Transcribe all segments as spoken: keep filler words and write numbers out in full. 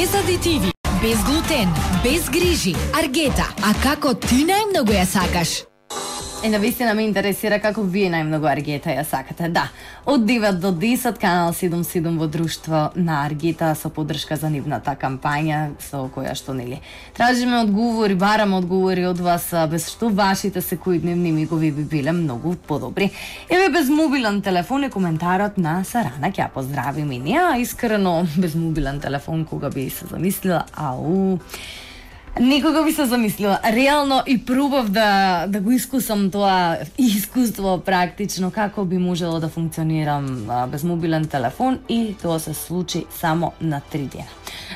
Без адитиви, без глутен, без грижи. Аргета, а како ти најмногу ја сакаш? И навистина ме интересира како вие најмногу Аргета ја сакате. Да, од девет до десет, канал седум седум во друштво на Аргета со поддршка за нивната кампања со која што нели тражиме одговори, бараме одговори од вас, без што вашите секојдневни мигови би биле многу подобри. Еве без мобилен телефон е коментарот на Сарана, ќе ја поздравим и неа. Искрено, без мобилен телефон кога би се замислила, ау, никога би се замислила. Реално и пробав да да го искусам тоа искуство практично како би можело да функционирам а, без мобилен телефон, и тоа се случи само на три дена.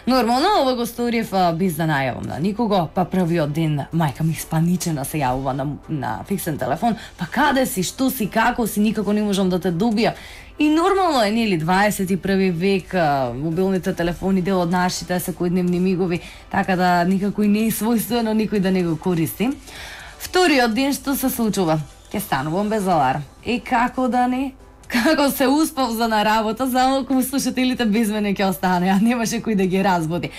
Нормално ова го сторив без да најавам на никого, па првиот ден мајка ми спаничена се јавува на, на фиксен телефон, па каде си, што си, како си, никако не можам да те добија. И нормално е, нели, дваесет и први век, мобилните телефони дел од нашите секојдневни мигови, така да никако и не е својствено никој да не го користи. Вториот ден што се случува? Ке станувам без аларм. И како да не? Како се успав за на работа, само кога слушателите без мене ќе остане, а немаше кој да ги разбуди.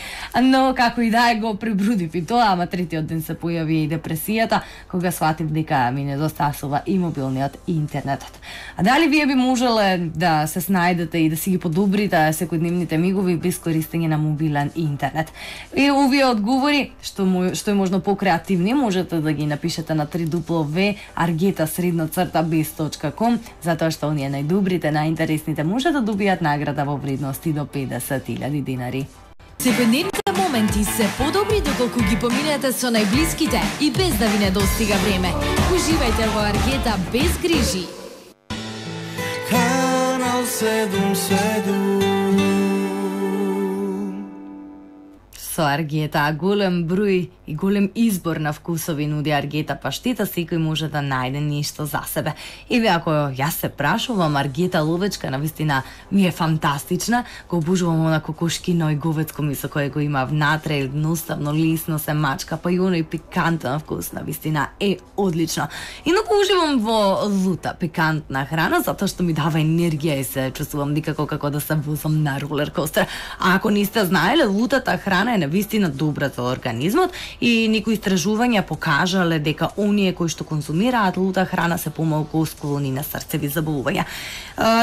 Но како и да е, го пребрудив и тоа, ама третиот ден се појави и депресијата, кога сватив дека ми недостасува и мобилниот и интернетот. А дали вие би можеле да се снајдете и да си ги подобрите секојдневните мигови без користење на мобилен и интернет? И овие одговори, што му, што е можно покреативни, можете да ги напишете на три дупла в аргета средна црта без точка ком, затоа што оние најдобрите, најинтересните може да добијат награда во вредност и до педесет илјади динари. Секојдневните моменти се подобри доколку ги поминете со најблиските и без да ви недостига време. Уживајте во Аргета без грижи. Канал седум седум. Со Аргета голем број и голем избор на вкусови нуди Аргета паштета, секој може да најде нешто за себе. Еве, ако јас се прашувам, Аргета ловечка навистина ми е фантастична, го обожувам она кокошкино и говецко месо кое го има внатре, едноставно, лесно се мачка, па и оној пикантен вкус навистина е одлично. Инаку уживам во лута пикантна храна, затоа што ми дава енергија и се чувствувам никако како да се возам на ролер костер. А ако не сте знаеле, лутата храна е навистина добра за организмот, и некои истражувања покажале дека оние кои што консумираат лута храна се помалку склони на срцеви заболувања.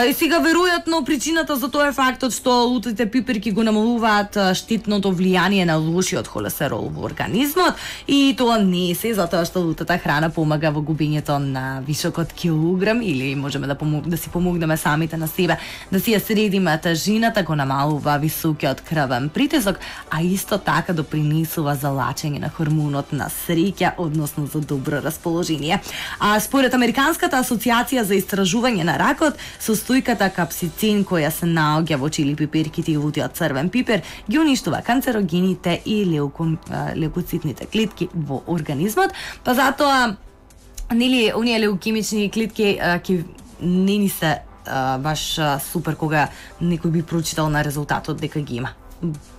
И сега веројатно причината за тоа е фактот што лутите пиперки го намалуваат штетното влијание на лошиот холестерол во организмот, и тоа не е се затоа што лутата храна помага во губењето на високот килограм, или можеме да помог, да си помогнеме самите на себе да си ја средиме тежината, го намалува високиот крвен притисок, а исто така допринесува за лачење на хормонот на среќа, односно за добро расположение. А според Американската асоциација за истражување на ракот, состојката капсицин која се наоѓа во чили пиперките и лутиот црвен пипер ги уништува канцерогените и леуко, леукоцитните клетки во организмот, па затоа нели оние леукемични клетки ќе не ни се а, баш а, супер кога некој би прочитал на резултатот дека ги има.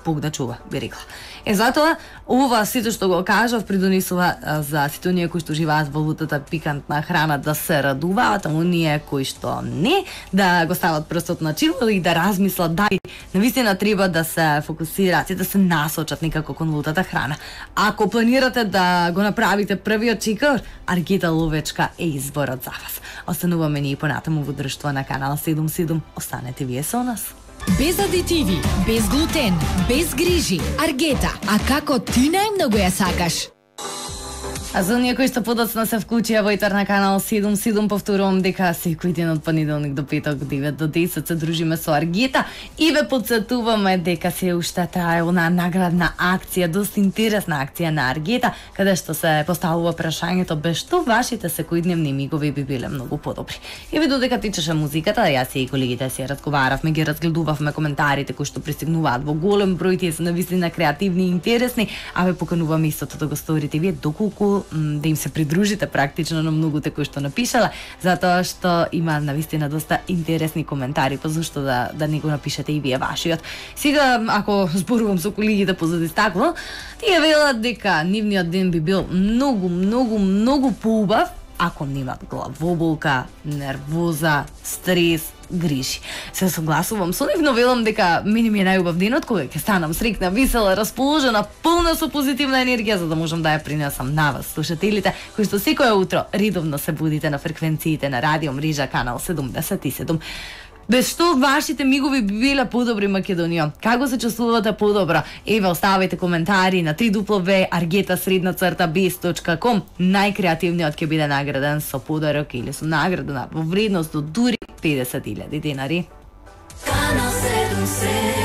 Бог да чува, би рекла. Е, затоа, ова сето што го кажав придонесува за сите оние кои што живеат во лутата пикантна храна да се радуваат, а оние кои што не, да го стават прстот на чило и да размислат дали навистина треба да се фокусираат и да се насочат некако кон лутата храна. Ако планирате да го направите првиот чекор, Аргета ловечка е изборот за вас. Остануваме ние понатаму во друштво на канал седум седум. Останете вие со нас. Без адитиви, без глутен, без грижи. Аргета, а како ти најмногу ја сакаш? А за оние кои што подоцна се вклучија во етер на канал седум седум, повторувам дека секој ден од понеделник до петок, девет до десет се дружиме со Аргета и ве потсетуваме дека се уште трае она наградна акција, доста интересна акција на Аргета, каде што се поставува прашањето без што вашите секојдневни мигови би биле многу подобри. Еве додека тичеше музиката, јас и колегите си разговаравме, ги разгледувавме коментарите кои што пристигнуваат во голем број, тие се навистина креативни и интересни, а ве покануваме истото да го сторите вие доколку да им се придружите практично на многуте кои што напишала, затоа што има навистина доста интересни коментари, па зашто да да не го напишете и вие вашиот. Сега ако зборувам со колегите позади стакло, тие велат дека нивниот ден би бил многу, многу, многу поубав ако немат главоболка, нервоза, стрес, грижи. Се согласувам со нив, но велам дека мене ми е најубав денот кога ќе станам срекна, весела, расположена, полна со позитивна енергија за да можам да ја принесам на вас, слушателите, кои што секое утро редовно се будите на фреквенциите на Радио Мрежа канал седумдесет и седум. Без што вашите мигови би биле подобри, Македонија? Како се чувствувате подобро? Еве, оставајте коментари на три дупла ве аргета средна црта без точка ком. Најкреативниот ќе биде награден со подарок или со награда во вредност до дури педесет илјади денари. Канал седумдесет